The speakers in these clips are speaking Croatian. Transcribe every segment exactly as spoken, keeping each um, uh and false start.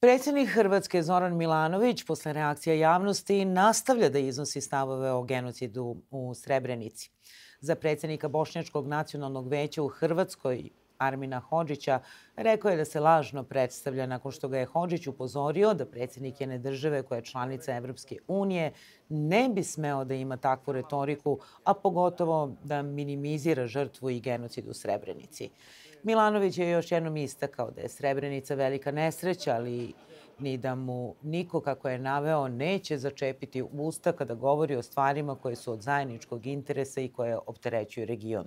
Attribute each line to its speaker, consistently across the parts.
Speaker 1: Predsjednik Hrvatske Zoran Milanović posle reakcija javnosti nastavlja da iznosi stavove o genocidu u Srebrenici. Za predsjednika Bošnjačkog nacionalnog veća u Hrvatskoj, Armina Hodžića, rekao je da se lažno predstavlja nakon što ga je Hodžić upozorio da predsjednik jedne države koja je članica Evropske unije ne bi smeo da ima takvu retoriku, a pogotovo da minimizira žrtvu i genocid u Srebrenici. Milanović je još jednom istakao da je Srebrenica velika nesreća, ali ni da mu niko, kako je naveo, neće začepiti usta kada govori o stvarima koje su od zajedničkog interesa i koje opterećuju region.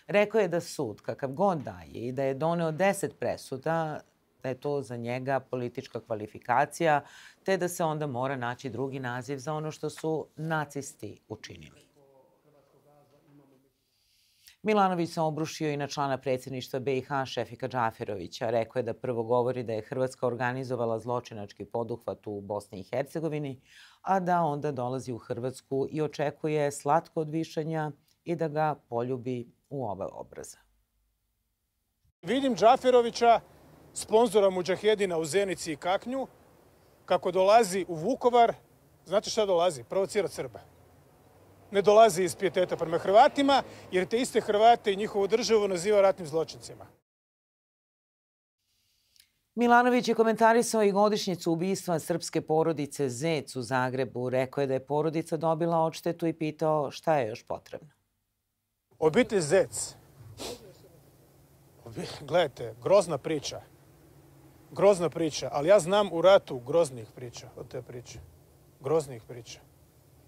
Speaker 1: Rekao je da sud, kakav god daje i da je doneo deset presuda, da je to za njega politička kvalifikacija, te da se onda mora naći drugi naziv za ono što su nacisti učinili. Milanović se obrušio i na člana predsjedništva B i H Šefika Džaferovića. Rekao je da prvo govori da je Hrvatska organizovala zločinački poduhvat u Bosni i Hercegovini, a da onda dolazi u Hrvatsku i očekuje slatko odvišanja i da ga poljubi u oba obraza.
Speaker 2: Vidim Džaferovića, sponzora Mudžahedina u Zenici i Kaknju, kako dolazi u Vukovar. Znate šta dolazi? Provocirati Srbe. Ne dolazi iz pijeteta prema Hrvatima, jer te iste Hrvate i njihovu državu naziva ratnim zločincima.
Speaker 1: Milanović je komentarisao i godišnjicu ubistva srpske porodice Zec u Zagrebu. Rekao je da je porodica dobila odštetu i pitao šta je još potrebno.
Speaker 2: Obitelj Zec. Gledajte, grozna priča. Grozna priča, ali ja znam u ratu groznih priča od te priče. Groznih priča.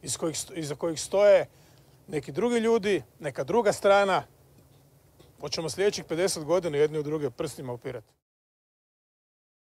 Speaker 2: Iz kojih, iza kojih stoje neki drugi ljudi, neka druga strana. Hoćemo sljedećih pedeset godina jedni u druge prstima upirati.